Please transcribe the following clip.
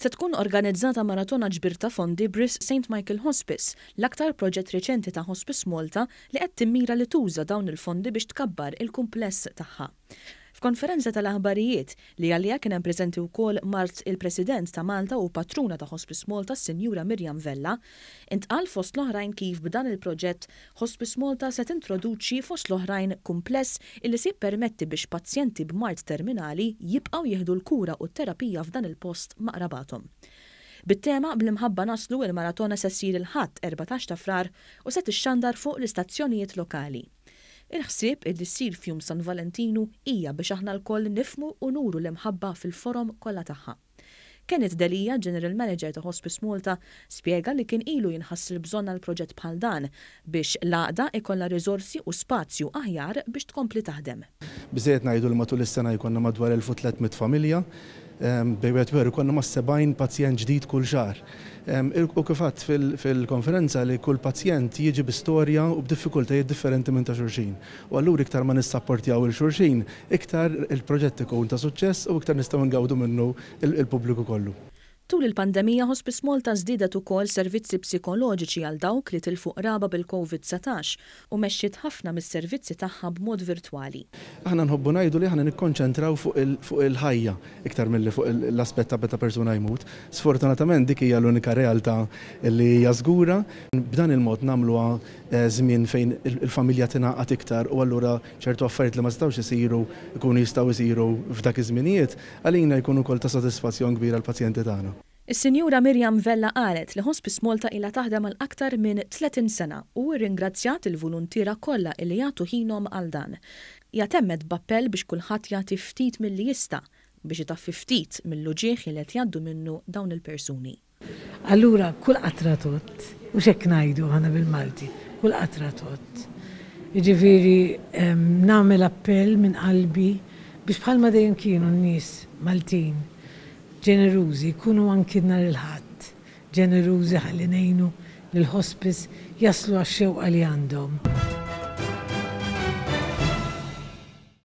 Se tkun organizzata maratona ġbir ta' fondi b'risq St Michael Hospice, l-aktar proġett riċenti ta' Hospice Malta li qed timmira li tuża dawn il-fondi biex tkabbar il-kumpless tagħha. F'konferenza tal-aħbarijiet, li għaliha kien hemm preżenti wkoll mart il-President ta' Malta u patruna ta' Hospice Malta s-Sinjura Miriam Vella, intqal fost l-oħrajn kif b'dan il-proġett Hospice Malta se tintroduċi fost l-oħrajn kumpless illi se jippermetti biex pazjenti b'mard terminali jibqgħu jieħdu l-kura u t-terapija f'dan il-post ma' qrabathom. Bit-tema Bl-Imħabba Naslu il-maratona se ssir il-Ħadd 14 ta' Frar u se tixxandar fuq l-istazzjonijiet lokali. Il-ħsieb illi ssir f'Jum San Valentinu hija biex aħna lkoll nifhmu u nuru l-imħabba fil-forom kollha tagħha. Kenneth Delia, General Manager ta' Hospice Malta, spjega li kien ilu jinħass il-bżonn għal proġett bħal dan biex l-għaqda ikollha riżorsi u spazju aħjar biex tkompli taħdem. Biżżejjed ngħidu li matul is-sena jkollna madwar 1,300 familja, bejn wieħed u ieħor ikollna mas-70 pazjent ġdid kull xahar. U kif għedt fil-konferenza li kull pazjent jiġi bi storja u b'diffikultajiet differenti minn ta' xulxin. U allura iktar ma nissapportjaw 'il xulxin, iktar il-proġett ikun ta' suċċess u iktar nistgħu ngawdu minnu l-pubbliku kollu. Tul il-pandemija Hospice Malta żdiedet ukoll servizzi psikoloġiċi għal dawk li tilfu qraba bil-Covid 19 u mexxiet ħafna mis-servizzi tagħha b'mod virtwali. Aħna nħobbu ngħidu li aħna nikkonċentraw fuq il-ħajja iktar milli fuq l-aspett ta' meta persuna jmut. Sfortunatament dik hija l-unika realtà li hija żgura. B'dan il-mod nagħmluha żmien fejn il-familja tingħaqad iktar u allura ċertu affarijiet li ma setgħux isiru jkunu jistgħu jsiru f'dak iż-żminijiet, għalina jkun ukoll ta' sodisfazzjon kbir għall-pazjenti tagħna. Is-Sinjura Miriam Vella qalet li Hospice Malta ilha taħdem għal aktar minn 30 sena u rringrazzjat il-voluntiera kollha illi jagħtu ħinhom għal dan. Hija temmet b'appell biex kulħadd jagħti ftit milli jista' biex itaffi ftit mill-uġigħ illi qed jgħaddu minnu dawn il-persuni. Allura kull qatra tgħodd, hux hekk ngħidu aħna bil-Malti, kull qatra tgħodd. Jiġifieri nagħmel appell minn qalbi biex bħalma dejjem kienu n-nies Maltin ġenerużi jkunu anki nhar il-Ħadd ġenerużi ħalli ngħinu lill-hospice jaslu għax-xewqa li għandhom.